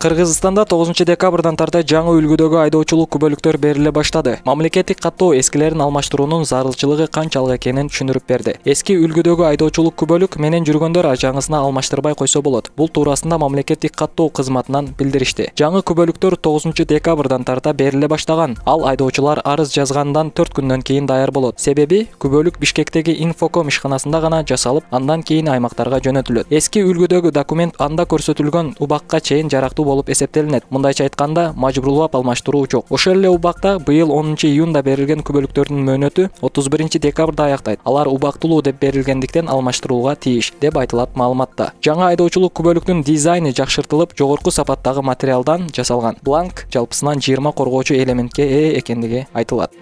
Кыргызстанда 9-декабрдан тарта жаңы үлгүдөгү айдоочулук күбөлүктөр бериле баштады. Мамлекеттик каттоо эскилерин алмаштыруунун зарылчылыгы канчалык экенин түшүндүрүп берди. Эски үлгүдөгү айдоочулук күбөлүк менен жүргөндөр жаңысына алмаштырбай койсо болот. Бул туурасында мамлекеттик каттоо кызматынан билдиришти. Жаңы күбөлүктөр 9-декабрдан тарта бериле баштаган. Ал айдоочулар арыз жазгандан 4 күндөн кийин даяр болот. Себеби күбөлүк Бишкектеги Инфоком ишканасында гана жасалып, андан кийин аймактарга жөнөтүлөт. Эски үлгүдөгү документ анда көрсөтүлгөн убакка чейин жарактуу болуп эсептелинет. Мындайча айтканда, мажбурлап алмаштыруу жок. Ошол эле убакта быйыл 10-июнда берилген күбөлүктөрдүн мөөнөтү 31-декабрда аяктайт. Алар убактылуу деп берилгендиктен алмаштырууга тийиш, деп айтылат маалыматта. Жаңы айдоочулук күбөлүктүн дизайны жакшыртылып, жогорку сапаттагы материалдан жасалган. Бланк жалпысынан 20 коргоочу элементке ээ экендиги айтылат.